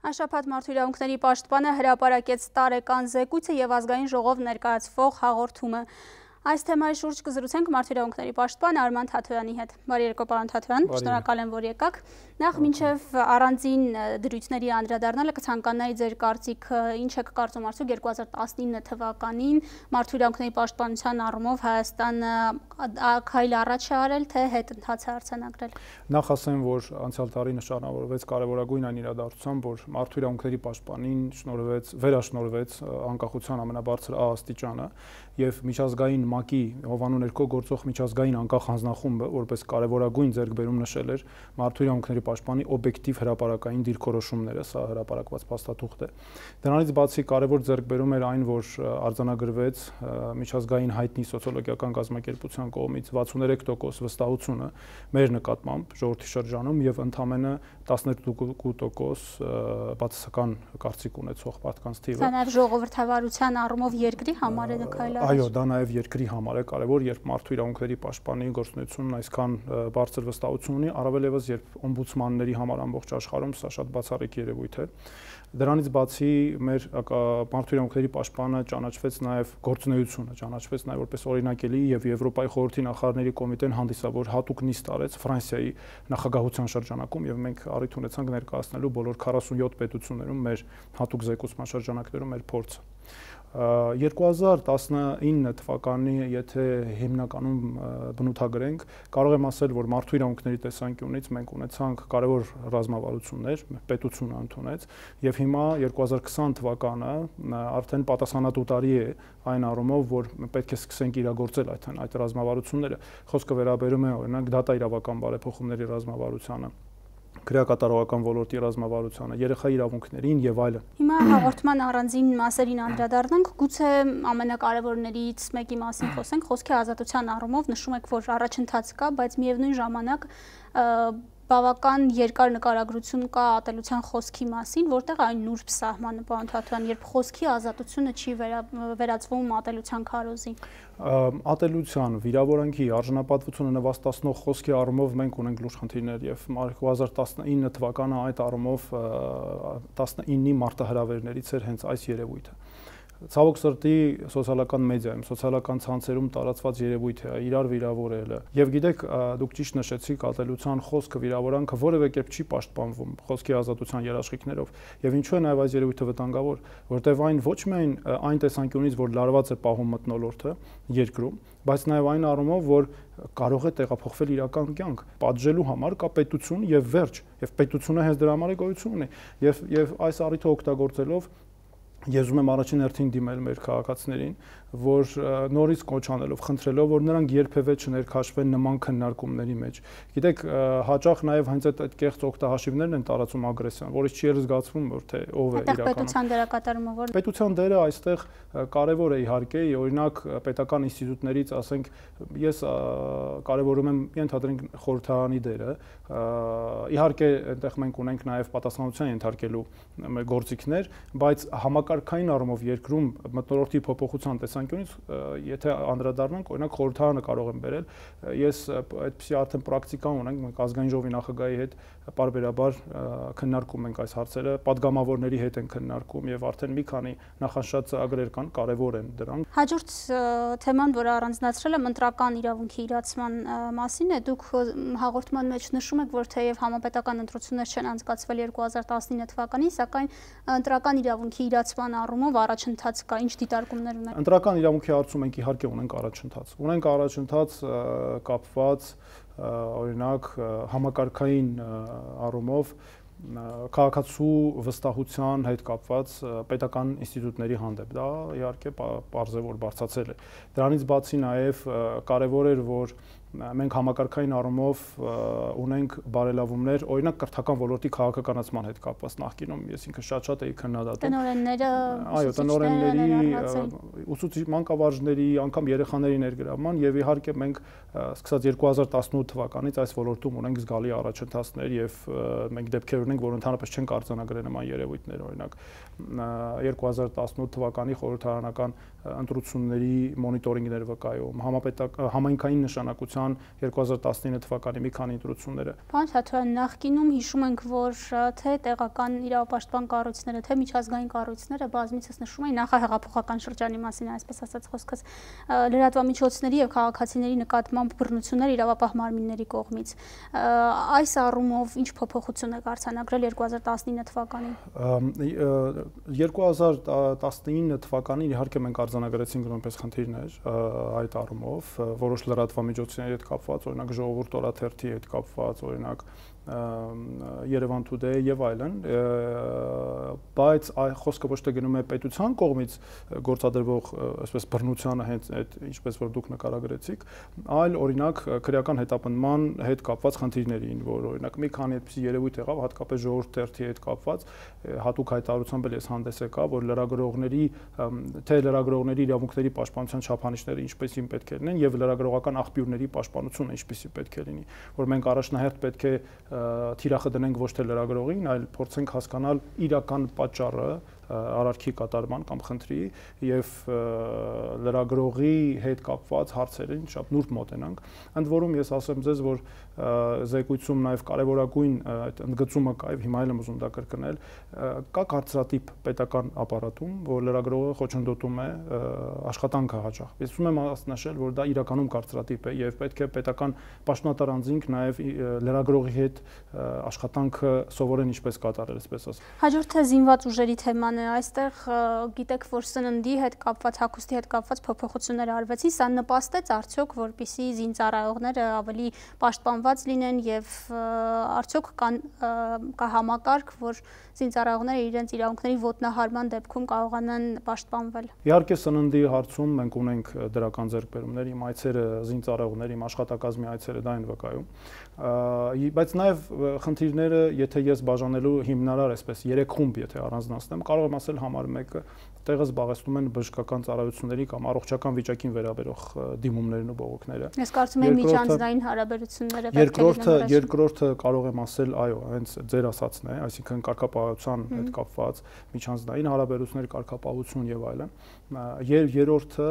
Շաբաթ մարդու իրավունքների պաշտպանը հրապարակեց տարեկան զեկույցը եւ ազգային ժողով ներկայացվող հաղորդումը։ Այս թեմայի շուրջ կզրուցենք մարդու իրավունքների պաշտպան Արման Թաթոյանի հետ։ Բարի երեկո, պարոն Թաթոյան, շնորհակալ եմ, որ եկաք։ Նախ մինչև առանձին դրույթների անդրադառնալը կցանկանայի ձեր կարծիքը, ինչ եք կարծում արդյոք 2019 թվականին մարդու իրավունքների պաշտպանության առումով Հայաստանը քայլ առաջ է արել, թե հետընթաց է արձանագրել։ Նախ ասեմ, որ անցյալ տարի նշանավորվեց կարևորագույն այն իրադարձությամբ, որ մարդու իրավունքների պաշտպանին վերաշնորհվեց անկախության ամենաբարձր աստիճանը եւ միջազգային ՄԱԿ-ի հովանու ներքո գործող միջազգային անկախ հանձնախումբը, որպես կարևորագույն ձեռքբերում նշել էր մարդու իրավունքների պաշտպանի օբյեկտիվ հրապարակային դիրքորոշումները, սա հրապարակված փաստաթուղթ է։ Դրանից բացի կարևոր ձեռքբերում էր այն, որ արձանագրվեց միջազգային հայտնի սոցիոլոգիական կազմակերպության կողմից 63% վստահությունը մեր նկատմամբ ժողովրդի շրջանում եւ ընդամենը 12% բացասական կարծիք ունեցող մարդկանց թիվը։ Սա նաեւ ժողովրդավարության առումով երկրի համար է քայլ առաջ։ Այո, դա նաեւ երկրի համար է կարևոր, երբ մարդու իրավունքների պաշտպանի գործունեությունն այսքան բարձր վստահություն ունի, առավել եւս երբ օմբուդսմանների համար ամբողջ աշխարհում սա շատ բացառիկ երևույթ է։ Դրանից բացի մեր մարդու իրավունքների պաշտպանը ճանաչվեց նաեւ գործունեությունը, ճանաչվեց նաեւ որպես օրինակելի եւ Եվրոպայի խորհրդի նախարարների կոմիտեն հանդիսավոր հատուկ նիստ արեց Ֆրանսիայի նախագահության շրջանակում եւ մենք առիթ ունեցանք ներկայացնելու բոլոր 47 պետություններում մեր հատուկ զեկուցման շրջանակներում մեր փորձը։ 2019 թվականի, եթե հիմնականում բնութագրենք, կարող եմ ասել, որ մարդու իրավունքների տեսանկյունից մենք ունեցանք կարևոր ռազմավարություններ, պետությունը ընդունեց, եւ հիմա 2020 թվականը արդեն պատասխանատու տարի է այն առումով, որ պետք է սկսենք իրագործել այդ ռազմավարությունները։ Խոսքը վերաբերում է օրինակ դատաիրավական բարեփոխումների ռազմավարությանը, քրեակատարողական ոլորտի ռազմավարությանը, երեխայի իրավունքներին եւ այլն։ Հիմա հաղորդման առանձին մասերին անդրադառնանք, գուցե ամենակարևորներից մեկի մասին խոսենք, խոսքի ազատության առումով նշում եք, որ առաջընթաց կա, բայց միևնույն ժամանակ բավական երկար նկարագրություն կա ատելության խոսքի մասին, որտեղ այն նուրբ սահմանը, պարոն Թաթոյան, երբ խոսքի ազատությունը չի վերածվում ատելության քարոզի։ Ատելության, վիրավորանքի, արժանապատվությունը նվաստացնող խոսքի առումով մենք ունենք լուրջ խնդիրներ եւ 2019 թվականը այդ առումով 19-ի մարտահրավերներից էր հենց այս երևույթը։ Ցավոք սրտի սոցիալական մեդիայում, սոցիալական ցանցերում տարածված երևույթ է իրար վիրավորելը։ Եվ գիտեք, դուք ճիշտ նշեցիք, ատելության խոսքը, վիրավորանքը որևէ կերպ չի պաշտպանվում խոսքի ազատության երաշխիքներով։ Եվ ինչու է նաև այս երևույթը վտանգավոր, որտեղ այն ոչ միայն այն տեսանկյունից, որ լարված է պահում մթնոլորտը երկրում, բայց նաև այն առումով, որ կարող է տեղափոխվել իրական կյանք, պատժելու համար կա պետություն եւ վերջ, եւ պետությունը հենց դրա համար է գոյություն ունի։ Եվ այս առիթը օգտագործելով ես ուզում եմ առաջին հերթին դիմել մեր քաղաքացիներին, որ նորից կոչ անելով, խնդրելով, որ նրանք երբևէ չներքաշվեն նման քննարկումների մեջ։ Գիտեք, հաճախ նաև հենց այդ կեղծ օգտահաշիվներն են տարածում ագրեսիան, որից չի զգացվում, որ թե ով է իրականում։ Պետության դերակատարումը ո՞ր։ Պետության դերը այստեղ կարևոր է իհարկե, օրինակ պետական ինստիտուտներից, ասենք, ես կարևորում եմ ենթադրենք խորհրդարանի դերը, իհարկե այնտեղ մենք ունենք նաև պատասխանատվության ենթարկելու գործիքներ, բայց համակարգային առումով երկրում մթնոլորտի փոփոխության տեսանկյունից, եթե անդրադառնանք, օրինակ խորհրդարանը կարող եմ բերել, ես այդպիսի արդեն պրակտիկա ունենք, մենք ազգային ժողովի նախագահի հետ պարբերաբար քննարկում ենք այս հարցերը, падգամավորների հետ են քննարկում եւ արդեն մի քանի նախանշած ծրագրեր կան, կարեւոր են դրանք։ Հաջորդ թեման, որը առանձնացրել եմ, ընտրական իրավունքի իրացման մասին է, դուք հաղորդման մեջ նշում եք, որ թեև համապետական ընտրություններ չեն անցկացվել 2019 թվականին, սակայն ընտրական իրավունքի իրացման առումով առաջընթաց կա, ինչ դիտարկումներ ունեք։ Ընտրական իրավունքի հարցում մենք իհարկե ունենք առաջընթաց։ Ունենք առաջընթաց կապված օրինակ համակարգային առումով քաղաքացու վստահության հետ կապված պետական ինստիտուտների հանդեպ, դա իհարկե պարզ է, որ բարձրացել է։ Դրանից բացի նաև կարևոր էր, որ մենք համակարգային առումով ունենք բարելավումներ, օրինակ կրթական ոլորտի քաղաքականացման հետ կապված նախկինում ես ինքը շատ էի քննադատում։ Տնօրենները, այո, տնօրենների, ուսուցիչ մանկավարժների, անգամ երեխաների ներգրավման եւ իհարկե մենք սկսած 2018 թվականից այս ոլորտում ունենք զգալի առաջընթացներ եւ մենք դեպքեր ունենք, որ ընդհանրապես չեն արձանագրել նման երևույթներ, օրինակ 2018 թվականի խորհրդարանական ընտրությունների մոնիտորինգներ վկայում, համայնքային նշանակության կայացան 2019 թվականի մի քանի ընտրությունները։ Պարոն Թաթոյան, նախկինում հիշում ենք, որ թե տեղական իրավապաշտպան կառույցները, թե միջազգային կառույցները բազմիցս նշում էին նախահեղափոխական շրջանի մասին, այսպես ասած խոսքս, լրատվամիջոցների եւ քաղաքացիների նկատմամբ բռնություններ իրավապահ մարմինների կողմից։ Այս առումով ինչ փոփոխություն է արձանագրել 2019 թվականին։ 2019 թվականին իհարկե մենք արձանագրեցինք նույնպես խնդիրներ այդ առումով, որոշ լրատվամիջոցների հետ կապված, օրինակ Ժողովուրդ օրաթերթի հետ կապված, օրինակ Երևան Today եւ այլն, բայց խոսքը ոչ թե գնում է պետության կողմից գործադրվող այսպես բռնությանը հենց այդ ինչպես որ դուք նկարագրեցիք, այլ օրինակ քրեական հետապնդման հետ կապված խնդիրներին, որ օրինակ մի քանի այդպիսի երևույթ եղավ, հատկապես Ժողովուրդ թերթի հետ կապված, հատուկ հայտարարությամբ էլ ես հանդես եկա, որ լրագրողների իրավունքների պաշտպանության չափանիշները ինչպեսին պետք է լինեն եւ լրագրողական աղբյուրների պաշտպանությունը ինչպեսի պետք է լինի, որ մենք առաջնահերթ պետք է թիրախը դնենք ոչ թե լրագրողին, այլ փորձենք հասկանալ իրական պատճառը արարքի կատարման կամ խնդրի եւ լրագրողի հետ կապված հարցերին շատ նուրբ մոտենանք։ Ընդ որում ես ասեմ ձեզ, որ զեկույցում նաեւ կարեւորագույն այդ ընդգծումը կա եւ հիմա էլ եմ ուզում դա կրկնել, կա կարծրատիպ պետական ապարատում, որ լրագրողը խոչընդոտում է աշխատանքը հաճախ։ Ես ուզում եմ նշել, որ դա իրականում կարծրատիպ է եւ պետք է պետական պաշտոնատար անձինք նաեւ լրագրողի հետ աշխատանքը սովորեն ինչպես կատարել, այսպես ասած։ Հաջորդը զինված ուժերի թեման է, այստեղ գիտեք, որ սննդի հետ կապված, հագուստի հետ կապված փոփոխություններ արվեցին, սա նպաստեց արդյոք, որպեսզի զինծառայողները ավելի պաշտպանված լինեն եւ արդյոք կա համակարգ, որ զինծառայողները իրենց իրավունքների ոտնահարման դեպքում կարողանան պաշտպանվել։ Իհարկե սննդի հարցում մենք ունենք դրական ձեռքբերումներ, իմ այցերը զինծառայողների, իմ աշխատակազմի այցերը դա են վկայում, բայց նաեւ խնդիրները, եթե ես բաժանելու հիմնարար այսպես 3 խումբ եթե առանձնացնեմ, կարող եմ ասել համար 1-ը տեղը զբաղեցնում են բժշկական ծառայությունների կամ առողջական վիճակին վերաբերող դիմումներն ու բողոքները։ Ես կարծում եմ միջանձնային հարաբերությունները պետք է լինեն։ Երկրորդը կարող եմ ասել, այո, հենց ձեր ասածն է, այսինքն կարգապահության հետ կապված միջանձնային հարաբերություններ, կարգապահություն եւ այլն։ Երրորդը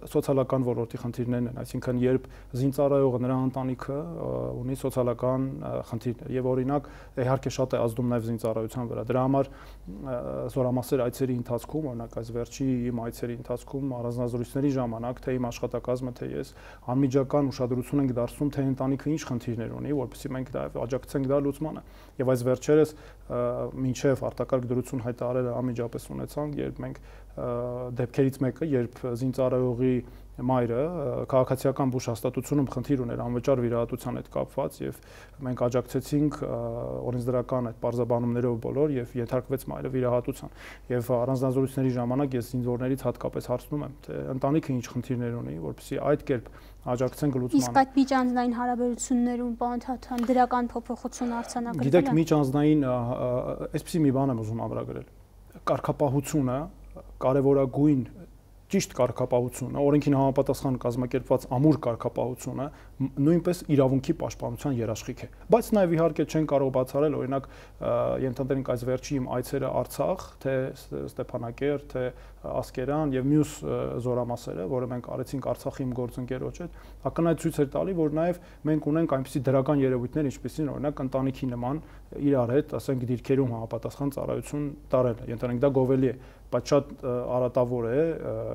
սոցիալական ոլորտի խնդիրներն են, այսինքն երբ զինծառայողը նրա ընտանիքը ունի սոցիալական խնդիրներ եւ օրինակ իհարկե շատ է ազդում նաեւ զինծառայության վրա։ Դրա համար զորամասեր այցերի ընթացքում, օրինակ այս վերջի իմ այցերի ընթացքում առանձնազրույցների ժամանակ թե իմ աշխատակազմը, թե ես անմիջական ուշադրություն ենք դարձնում, թե ընտանիքը ինչ խնդիրներ ունի, որովհետեւ մենք դա աջակցենք դա լուծմանը։ Եվ այս վերջերս մինչև արտակարգ դրություն հայտարարելը անմիջապես ունեցանք, երբ մենք դեպքերից մեկը, երբ զինծառայողի մայրը քաղաքացիական բուժ հաստատությունում խնդիր ուներ անվճար վիրահատության հետ կապված եւ մենք աջակցեցինք օրենսդրական այդ պարզաբանումներով բոլոր եւ ենթարկվեց մայրը վիրահատության եւ առանձնազրույցների ժամանակ ես զինվորներից հատկապես հարցնում եմ թե ընտանիքը ինչ խնդիրներ ունի որպեսզի այդ կերպ աջակցենք լուծմանը։ Իսկ այդ միջանձնային հարաբերություններում պարոն Թաթոյան դրական փոփոխություն արձանագրվել է։ Գիտեք, միջանձնային այսպեսի մի բան եմ ուզում ամրագրել։ Կարգապահությունը կարևորագույն ճիշտ կարգապահությունը, օրենքին համապատասխան կազմակերպված ամուր կարգապահությունը նույնպես իրավունքի պաշտպանության երաշխիք է։ Բայց նաև իհարկե չեն կարող բացառել, օրինակ ենթադրենք այս վերջի իմ այցերը Արցախ, թե Ստեփանակերտ, թե Ասկերան եւ մյուս զորամասերը, որը մենք արեցինք Արցախի իմ գործընկերոջ հետ, ակնհայտ ցույց էր տալի, որ նաև մենք ունենք այնպիսի դրական երևույթներ, ինչպեսին օրինակ ընտանիքի նման իրար հետ, ասենք դիրքերում համապատասխան ծառայություն տարելը։ Ենթադրենք դա գովելի է, բայց շատ արատավոր է,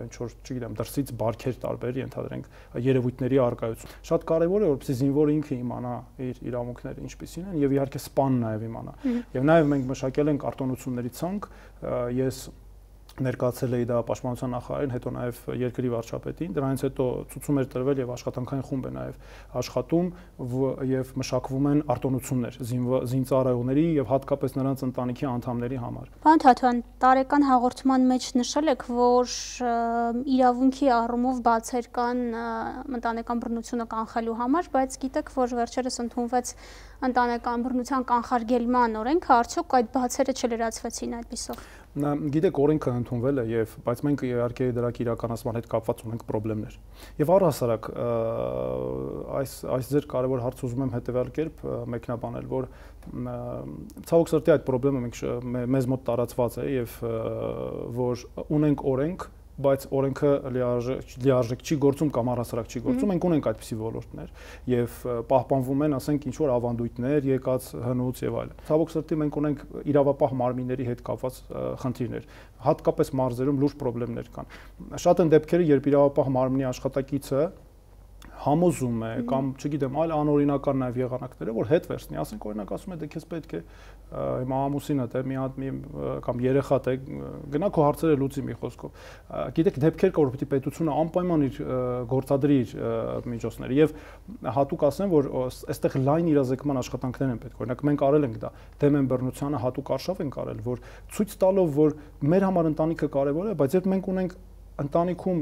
ինչ որ, չգիտեմ, դրսից բարքեր տարբեր, ենթադրենք երևույթների արկայություն։ Շատ կարևոր է, որպեսզի զինվորը ինքը իմանա իր իրավունքները ինչպիսին են եւ իհարկե սպան նաեւ իմանա։ Եվ նաեւ մենք մշակել ենք արտոնությունների ցանկ, ես ներկայացել էի դա պաշտպանության նախարարին, հետո նաև երկրի վարչապետին, դրանից հետո ցուցում էր տրվել եւ աշխատանքային խումբ է նաև աշխատում եւ մշակվում են արտոնություններ զինծառայողների եւ հատկապես նրանց ընտանիքի անդամների համար։ Պարոն Թաթոյան, տարեկան հաղորդման մեջ նշել եք, որ իրավունքի առումով բացեր կան ընտանեկան բռնությունը կանխելու համար, բայց գիտեք, որ վերջերս ընդունվեց ընտանեկան բռնության կանխարգելման օրենքը, արդյոք այդ բացերը չլրացվեցին այդպիսով։ Գիտեք, օրենքը ընդունվել է բայց մենք իհարկե դրա իրականացման հետ կապված ունենք խնդիրներ։ Եվ առհասարակ այս ձեր կարևոր հարցը ուզում եմ հետևյալ կերպ մեկնաբանել, որ ցավոք սրտի այդ խնդրը մեզ մոտ տարածված է եւ որ ունենք օրենք բայց օրենքը լիարժեք չի գործում կամ առհասարակ չի գործում, մենք ունենք այդպիսի ոլորտներ եւ պահպանվում են, ասենք, ինչ որ ավանդույթներ, եկած հնուց եւ այլն։ Ցավոք սրտի մենք ունենք իրավապահ մարմինների հետ կապված խնդիրներ, հատկապես մարզերում լուրջ խնդիրներ կան։ Շատ են դեպքերը, երբ իրավապահ մարմնի աշխատակիցը համոզում է կամ չգիտեմ այլ անօրինական նաև եղանակները, որ հետ վերցնի, ասենք օրինակ ասում է դե քեզ պետք է հիմա ամուսինդ է մի հատ կամ երեխադ է գնա քո հարցերը լուծի մի խոսքով։ Գիտեք դեպքեր կա, որ պիտի պետությունը անպայման իր գործադրի իր միջոցները եւ հատուկ ասեմ, որ այստեղ լայն իրազեկման աշխատանքներ են պետք։ Օրինակ մենք արել ենք դա դեմ են բռնությանը հատուկ արշավ ենք արել, որ ցույց տալով, որ մեր համար ընտանիքը կարեւոր է, բայց երբ մենք ունենք ընտանիքում,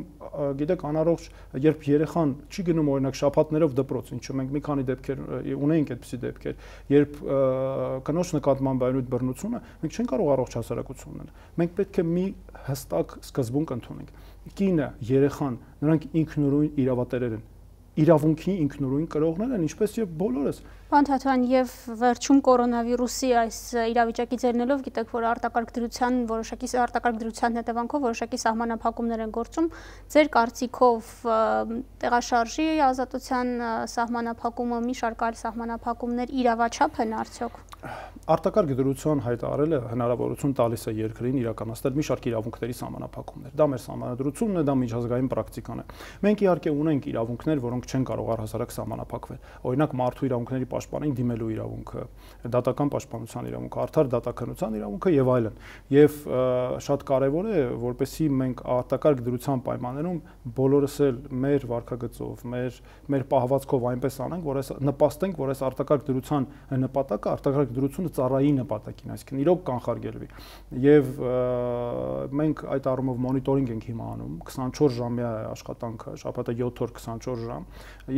գիտեք, անառողջ, երբ երեխան չի գնում օրինակ շաբաթներով դպրոց, ինչու մենք մի քանի դեպքեր ունենք այդպիսի դեպքեր, երբ կնոջ նկատմամբ այլույթ բռնությունը, մենք չենք կարող առողջ հասարակություն ունենալ։ Մենք պետք է մի հստակ սկզբունք ընդունենք։ Կինը, երեխան, նրանք ինքնուրույն իրավատերեր են։ Իրավունքի ինքնուրույն կրողներ են, ինչպես եւ բոլորս։ Պարոն Թաթոյան, եւ վերջում կորոնավիրուսի այս իրավիճակի ձեռնելով գիտեք, որ արտակարգ դրության հետևանքով որոշակի սահմանափակումներ են գործում։ Ձեր կարծիքով տեղաշարժի ազատության սահմանափակումը, մի շարք այլ սահմանափակումներ իրավաչափ են արդյոք։ Արտակարգ դրության հայտարարելը հնարավորություն տալիս է երկրին իրականացնել մի շարք իրավունքների սահմանափակումներ։ Դա մեր սահմանադրությունն է, դա միջազգային պրակտիկան է։ Մենք իհարկե ունենք իրավունքներ, որոնք չեն կարող առհասարակ սահմանափակվել։ Օրինակ մարդու իրավունքների պաշտպանին դիմելու իրավունքը, դատական պաշտպանության իրավունքը, արդար դատականության իրավունքը եւ այլն։ Եվ շատ կարեւոր է, որպեսզի մենք արտակարգ դրության պայմաններում բոլորս էլ մեր վարքագծով, մեր պահվածքով այնպես անենք, որ նպաստենք, որ այս արտակարգ դրության նպատակը արտակարգ դրությունը ծառայի նպատակին, այսինքն իրոք կանխարգելվի։ Եվ մենք այդ առումով մոնիտորինգ ենք հիմա անում, 24 ժամյա աշխատանքը, շաբաթը 7 օր 24 ժամ,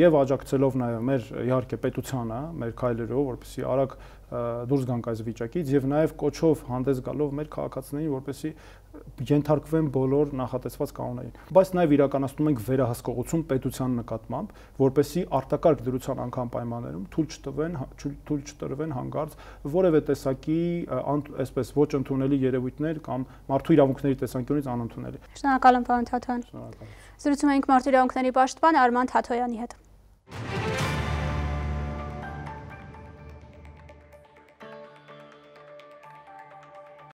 եւ աջակցելով նաեւ մեր իհարկե պետությանը, մեր քայլերով, որպեսզի արագ դուրս գանք այս վիճակից եւ նաեւ կոչով հանդես գալով մեր քաղաքացիներին, որպեսզի ենթարկվեն բոլոր նախատեսված կանոններին։ Բայց նաեւ իրականացնում ենք վերահսկողություն պետության նկատմամբ, որպեսզի արտակարգ դրության անգամ պայմաններում թույլ չտրվեն հանգարց որևէ տեսակի այսպես ոչ ընդունելի երևույթներ կամ մարդու իրավունքների տեսանկյունից անընդունելի։ Շնորհակալ եմ, պարոն Թաթոյան։ Շնորհակալ։ Զրուցում էինք մարդու իրավունքների պաշտպան Արման Թաթոյանի հետ։